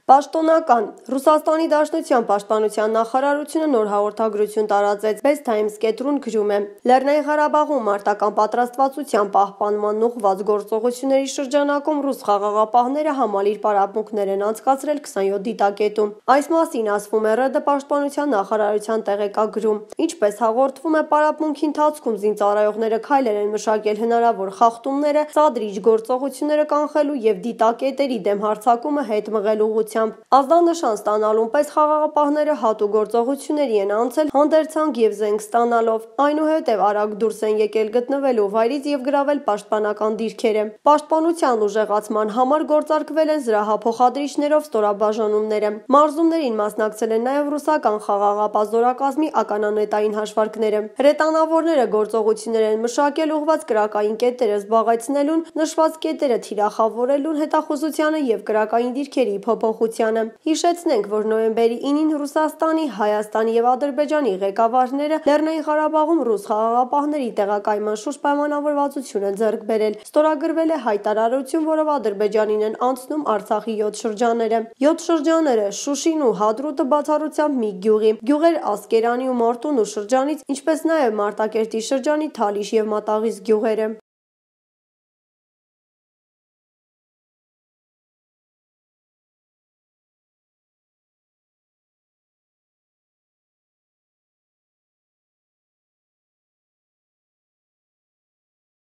Պաշտոնական Ռուսաստանի Դաշնության պաշտպանության նախարարությունը նոր հաղորդագրություն տարածեց Best Times կետրուն գրում է. Լեռնային Ղարաբաղում մարտական պատրաստվածության պահպանման ուղղված գործողությունների շրջանակում ռուս խաղաղապահները համալիր պարապմունքներ են անցկացրել 27 դիտակետում։ Այս մասին ասվում է ՌԴ պաշտպանության նախարարության տեղեկագրում։ Ինչպես հաղորդվում է, պարապմունքի ընթացքում զինծառայողները քայլեր են մշակել հնարավոր խախտումները, սադրիչ գործողությունները կանխելու եւ դիտակետերի դեմ հարձակումը հետ մղելու ուղղությամբ։ Ազդանշան ստանալուն պես խաղաղապահները հատուկ գործողությունների են անցել հանդերձանք եւ զենք ստանալով, այնուհետեւ արագ դուրս են եկել գտնվելու վայրից եւ գրավել պաշտպանական դիրքերը։ Պաշտպանության ուժեղացման համար գործարկվել են զրահափոխադրիչներով ստորաբաժանումները։ Մարզումներին մասնակցել են նաեւ ռուսական խաղաղապահ զորակազմի ականանետային հաշվարկները։ Հրետանավորները գործողություններ են մշակել ուղղված կրակային կետերը զբաղեցնելուն, նշված կետերը թիրախավորելուն, հետախուզությանը եւ կրակային դիրքերի փոփոխությանը։ Հիշեցնենք, որ նոյեմբերի 9-ին Ռուսաստանի, Հայաստանի եւ Ադրբեջանի ղեկավարները Լեռնային Ղարաբաղում ռուս խաղաղապահների տեղակայման շուրջ պայմանավորվածություն են ձեռք բերել։ Ստորագրվել է հայտարարություն, որով Ադրբեջանին են անցնում Արցախի 7 շրջանները։ 7 շրջանները Շուշին ու Հադրութը բացառությամբ մի գյուղի, գյուղեր Ասկերանի ու Մարտունու շրջանից, ինչպես նաեւ Մարտակերտի շրջանի Թալիշ եւ Մատաղիս գյուղերը։